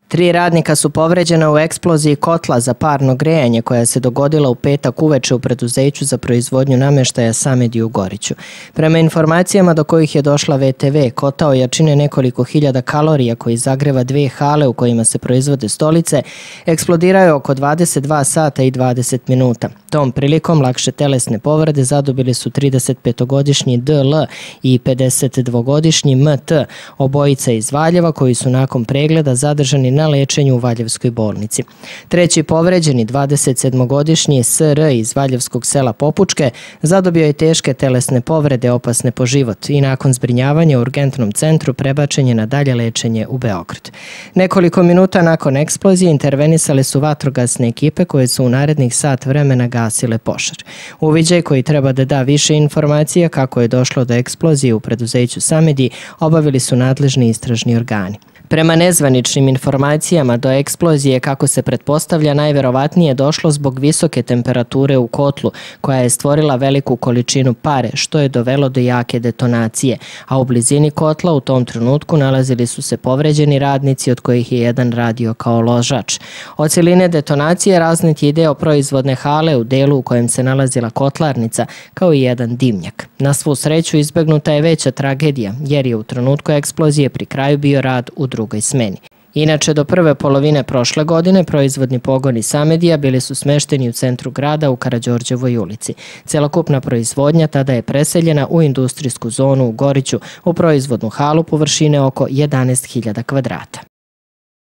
3 radnika su povređena u eksploziji kotla za parno grejanje koja se dogodila u petak uveče u preduzeću za proizvodnju namještaja Samedi u Goriću. Prema informacijama do kojih je došla VTV, kotao jačine nekoliko hiljada kalorija koji zagreva 2 hale u kojima se proizvode stolice, eksplodirao je oko 22 sata i 20 minuta. Tom prilikom lakše telesne povrede zadobili su 35-godišnji DL i 52-godišnji MT, obojica iz Valjeva koji su nakon pregleda zadržani na lečenju u Valjevskoj bolnici. Treći povređeni, 27-godišnji SR iz Valjevskog sela Popučke, zadobio je teške telesne povrede opasne po život i nakon zbrinjavanja u urgentnom centru prebačen je na dalje lečenje u Beograd. Nekoliko minuta nakon eksplozije intervenisale su vatrogasne ekipe koje su u narednih sat vremena gasile požar. Uviđaj koji treba da da više informacija kako je došlo do eksplozije u preduzeću Samedi obavili su nadležni istražni organi. Prema nezvaničnim informacijama do eksplozije, kako se pretpostavlja, najverovatnije došlo zbog visoke temperature u kotlu koja je stvorila veliku količinu pare, što je dovelo do jake detonacije, a u blizini kotla u tom trenutku nalazili su se povređeni radnici od kojih je jedan radio kao ložač. Od cijeline detonacije raznet je deo proizvodne hale u delu u kojem se nalazila kotlarnica, kao i jedan dimnjak. Na svu sreću izbegnuta je veća tragedija, jer je u trenutku eksplozije pri kraju bio rad u drugoj smeni. Inače, do prve polovine prošle godine proizvodni pogoni Samedija bili su smešteni u centru grada u Karađorđevoj ulici. Celokupna proizvodnja tada je preseljena u industrijsku zonu u Goriću, u proizvodnu halu površine oko 11.000 kvadrata.